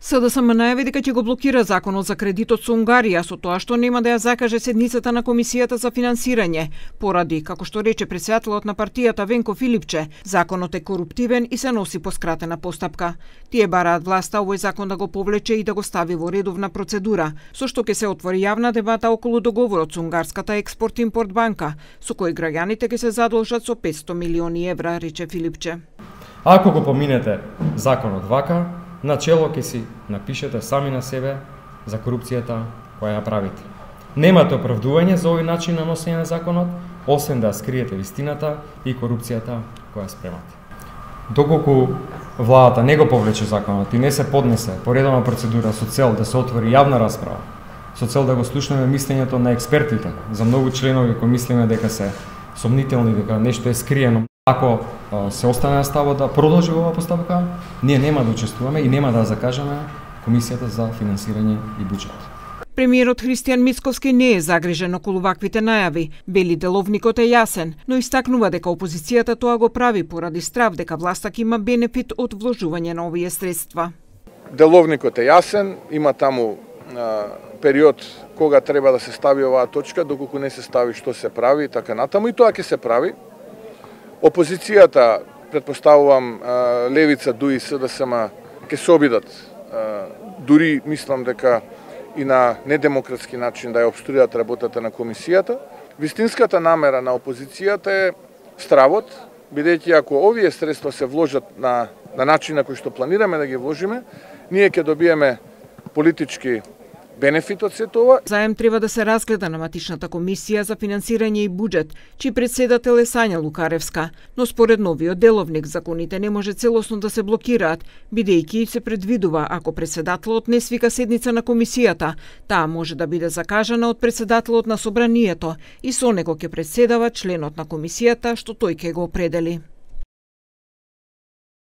СДСМ најави дека ќе го блокира законот за кредитот со Унгарија со тоа што нема да ја закаже седницата на Комисијата за финансирање, поради, како што рече претседателот на партијата Венко Филипче, законот е коруптивен и се носи по скратена постапка. Тие бараат власта овој закон да го повлече и да го стави во редовна процедура, со што ќе се отвори јавна дебата околу договорот со унгарската Експорт-импорт банка, со кој граѓаните ќе се задолжат со 500 милиони евра, рече Филипче. Ако го поминете законот вака, начело ќе си напишете сами на себе за корупцијата која ја правите. Немате оправдување за овој начин на носење на законот, освен да скриете вистината и корупцијата која спремате. Доколку владата не го повлече законот и не се поднесе по редовна процедура со цел да се отвори јавна расправа, со цел да го слушнеме мислењето на експертите, за многу членови кои мислиме дека се сомнителни, дека нешто е скриено. Ако се остане на ставот да продолжи оваа постапка, ние нема да учествуваме и нема да закажеме Комисијата за финансирање и буџет. Премиерот Христијан Мицковски не е загрижен околу ваквите најави. Бели деловникот е јасен, но истакнува дека опозицијата тоа го прави поради страв дека власта ќе има бенефит од вложување на овие средства. Деловникот е јасен, има таму период кога треба да се стави оваа точка, доколку не се стави што се прави и така натаму, и тоа ќе се прави. Опозицијата, претпоставувам, Левица, ДУИ, СДСМ ќе се обидат. Дури мислам дека и на недемократски начин да ја обструјат работата на комисијата. Вистинската намера на опозицијата е стравот, бидејќи ако овие средства се вложат на начин на кој што планираме да ги вложиме, ние ќе добиеме политички бенефит од се тоа. Заем треба да се разгледа на матичната комисија за финансирање и буџет, чиј претседател е Сања Лукаревска, но според новиот деловник законите не може целосно да се блокираат, бидејќи се предвидува ако претседателот не свика седница на комисијата, таа може да биде закажана од претседателот на собранието и со него ќе претседава членот на комисијата што тој ќе го определи.